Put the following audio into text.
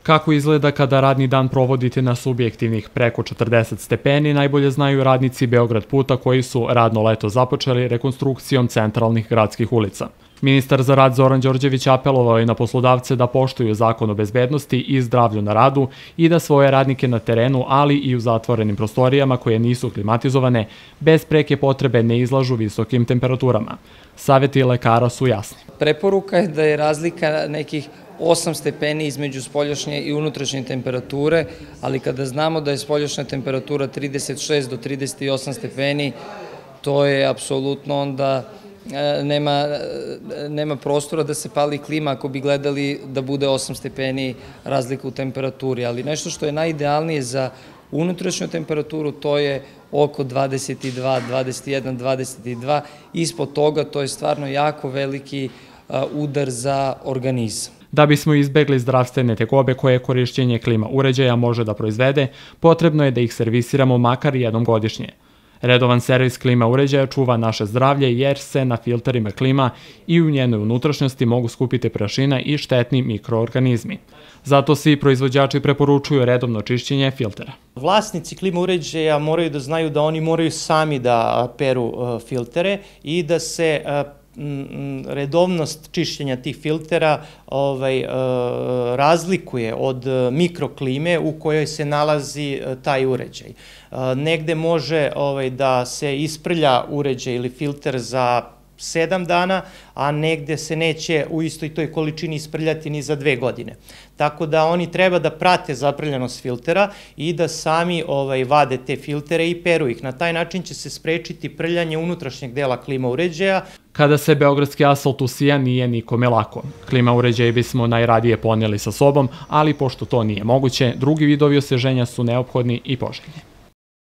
Kako izgleda kada radni dan provodite na subjektivnih preko 40 stepeni, najbolje znaju radnici Beograd puta koji su radno leto započeli rekonstrukcijom centralnih gradskih ulica. Ministar za rad Zoran Đorđević apelovao je na poslodavce da poštuju zakon o bezbednosti i zdravlju na radu i da svoje radnike na terenu, ali i u zatvorenim prostorijama koje nisu klimatizovane, bez preke potrebe ne izlažu visokim temperaturama. Saveti lekara su jasni. Preporuka je da je razlika nekih 8 stepeni između spoljašnje i unutrašnje temperature, ali kada znamo da je spoljašnja temperatura 36 do 38 stepeni, to je apsolutno onda nema prostora da se pali klima ako bi gledali da bude 8 stepeni razlika u temperaturi. Ali nešto što je najidealnije za unutrašnju temperaturu, to je oko 22, 21, 22. Ispod toga to je stvarno jako veliki udar za organizam. Da bismo izbegli zdravstvene tegobe koje korišćenje klima uređaja može da proizvede, potrebno je da ih servisiramo makar jednom godišnje. Redovan servis klima uređaja čuva naše zdravlje jer se na filterima klima i u njenoj unutrašnjosti mogu skupiti prašina i štetni mikroorganizmi. Zato svi proizvođači preporučuju redovno čišćenje filtera. Vlasnici klima uređaja moraju da znaju da oni moraju sami da peru filtere i da se redovnost čišćenja tih filtera razlikuje od mikroklime u kojoj se nalazi taj uređaj. Negde može da se isprlja uređaj ili filter za 7 dana, a negde se neće u istoj toj količini isprljati ni za 2 godine. Tako da oni treba da prate zaprljanost filtera i da sami vade te filtere i peru ih. Na taj način će se sprečiti prljanje unutrašnjeg dela klima uređaja. Kada se beogradski asfalt usija, nije nikome lako. Klima uređaje bismo najradije poneli sa sobom, ali pošto to nije moguće, drugi vidovi osveženja su neophodni i poželjni.